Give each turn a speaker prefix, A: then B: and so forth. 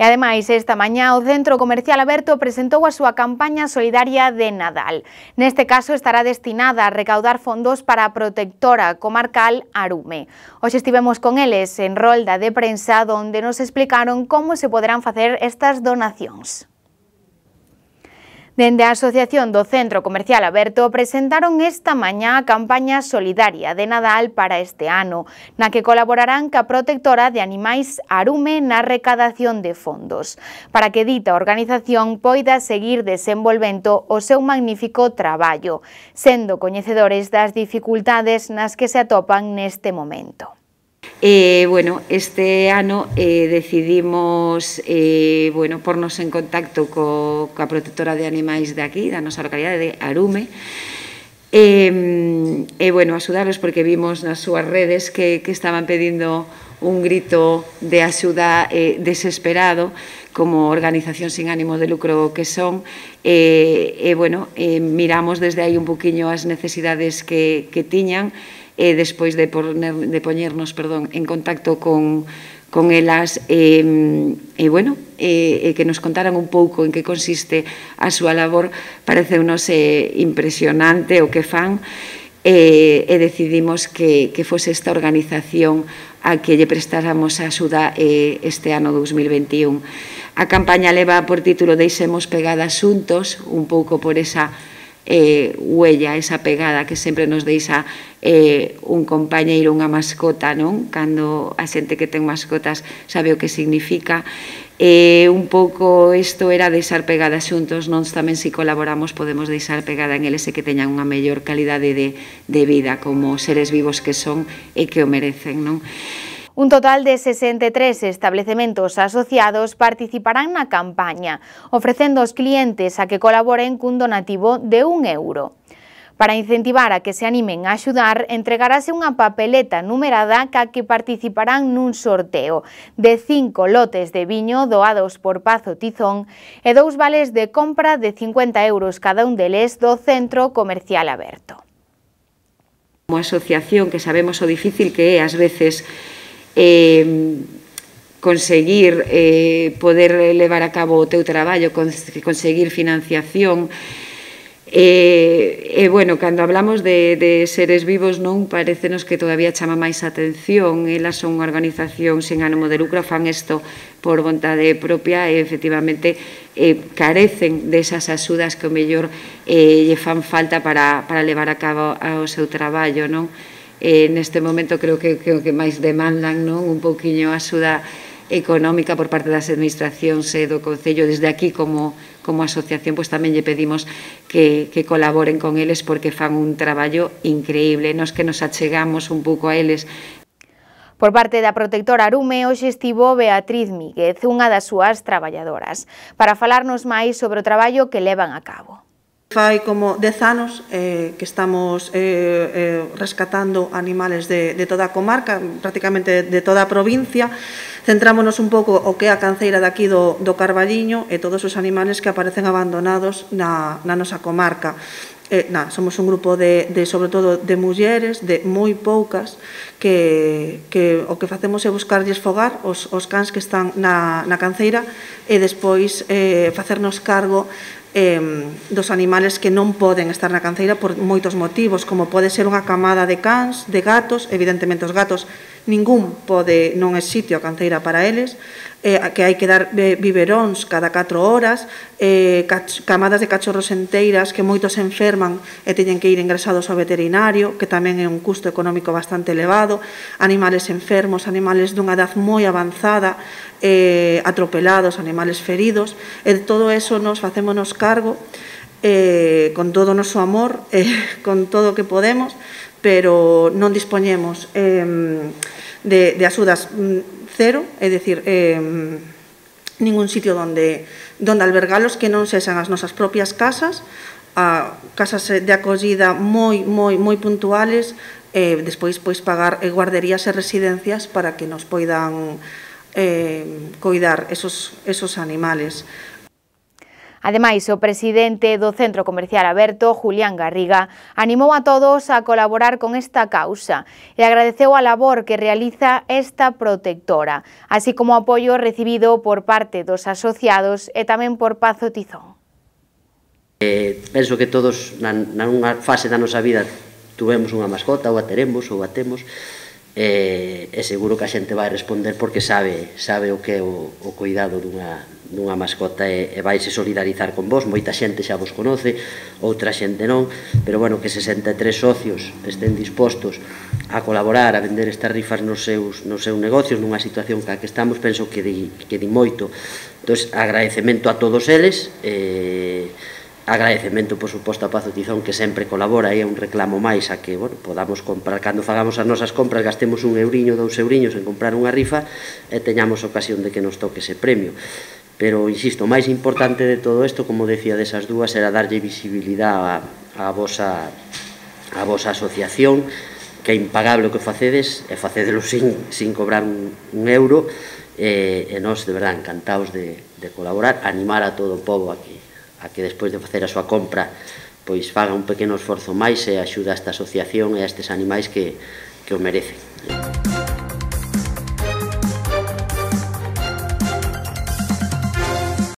A: E ademais, esta mañá o Centro Comercial Aberto presentou a súa campaña solidaria de Nadal. Neste caso estará destinada a recaudar fondos para a protectora comarcal Arume. Hoxe estivemos con eles en rolda de prensa onde nos explicaron como se poderán facer estas donacións. Dende a Asociación do Centro Comercial Aberto presentaron esta mañá a campaña solidaria de Nadal para este ano, na que colaborarán ca protectora de animais Arume na recadación de fondos, para que dita organización poida seguir desenvolvendo o seu magnífico traballo, sendo coñecedores das dificultades nas que se atopan neste momento.
B: Este ano decidimos pornos en contacto coa protectora de animais de aquí, da nosa localidade de Arume, axudarlos porque vimos nas súas redes que estaban pedindo un grito de axuda desesperado como organización sin ánimo de lucro que son. Miramos desde aí un poquinho as necesidades que tiñan, despois de poñernos en contacto con elas que nos contaran un pouco en que consiste a súa labor. Pareceunos impresionante o que fan e decidimos que fose esta organización a que lle prestáramos axuda este ano 2021. A campaña leva por título Deixemos pegadas xuntos, un pouco por esa huella, esa pegada que sempre nos deixa un compañeiro, unha mascota, non? Cando a xente que ten mascotas sabe o que significa. Un pouco isto era deixar pegadas xuntos, nós tamén se colaboramos podemos deixar pegada en eles e que teñan unha mellor calidade de vida como seres vivos que son e que o merecen, non?
A: Un total de 63 establecementos asociados participarán na campaña, ofrecendo aos clientes a que colaboren cun donativo de €1. Para incentivar a que se animen a axudar, entregarase unha papeleta numerada ca que participarán nun sorteo de 5 lotes de viño doados por Pazo Tizón e 2 vales de compra de €50 cada un deles do Centro Comercial Aberto.
B: Como asociación, que sabemos o difícil que é ás veces conseguir poder levar a cabo o teu traballo, conseguir financiación. Cando hablamos de seres vivos, non parecenos que todavía chama máis atención. Elas son unha organización sin ánimo de lucro, fan isto por vontade propia e efectivamente carecen desas axudas que o mellor lle fan falta para levar a cabo o seu traballo, non? Neste momento creo que o que máis demandan, non? Un pouquiño axuda económica por parte das administracións e do Concello. Desde aquí, como asociación, tamén lle pedimos que colaboren con eles porque fan un traballo increíble. Nos que nos achegamos un pouco a eles.
A: Por parte da protectora Arume, hoxe estivo Beatriz Míguez, unha das súas traballadoras, para falarnos máis sobre o traballo que levan a cabo.
C: Fai como 10 anos que estamos rescatando animales de toda a comarca, prácticamente de toda a provincia. Centrámonos un pouco o que é a canceira daqui do Carballiño e todos os animales que aparecen abandonados na nosa comarca. Somos un grupo sobre todo de mulleres, de moi poucas, que o que facemos é buscarlles fogar os cans que están na canceira e despois facernos cargo dos animales que non poden estar na canceira por moitos motivos, como pode ser unha camada de cans, de gatos. Evidentemente os gatos non é sitio a canceira para eles, que hai que dar biberóns cada 4 horas, camadas de cachorros enteiras que moitos se enferman e teñen que ir ingresados ao veterinario, que tamén é un custo económico bastante elevado, animales enfermos, animales dunha edad moi avanzada, atropelados, animales feridos, e de todo eso nos facémonos cargo con todo o noso amor, con todo o que podemos, pero non dispoñemos de axudas cero, é dicir, ningún sitio onde albergalos que non sexan as nosas propias casas, casas de acollida moi puntuales, despois pagar guarderías e residencias para que nos poidan coidar esos animales.
A: Ademais, o presidente do Centro Comercial Aberto, Julián Garriga, animou a todos a colaborar con esta causa e agradeceu a labor que realiza esta protectora, así como o apoio recibido por parte dos asociados e tamén por Pazo Tizón.
D: Penso que todos, nunha fase da nosa vida, tuvemos unha mascota, ou a teremos, ou a temos, e seguro que a xente vai responder porque sabe o que é o cuidado dunha mascota e vaise solidarizar con vos. Moita xente xa vos conoce, outra xente non, pero bueno, que 63 socios estén dispostos a colaborar, a vender estas rifas nos seus negocios nunha situación que estamos, penso que di moito. Entón, agradecemento a todos eles, agradecemento, por suposto, a Pazo Tizón, que sempre colabora, e é un reclamo máis a que podamos comprar, cando fagamos as nosas compras, gastemos un euriño, 2 euriños en comprar unha rifa e teñamos ocasión de que nos toque ese premio. Pero, insisto, o máis importante de todo isto, como decía desas dúas, era darlle visibilidade á vosa asociación, que é impagable o que facedes, e facedelo sin cobrar un euro, e nós, de verdade, encantados de colaborar, animar a todo o pobo a que despois de facer a súa compra pois faga un pequeno esforzo máis e axuda a esta asociación e a estes animais que o merecen.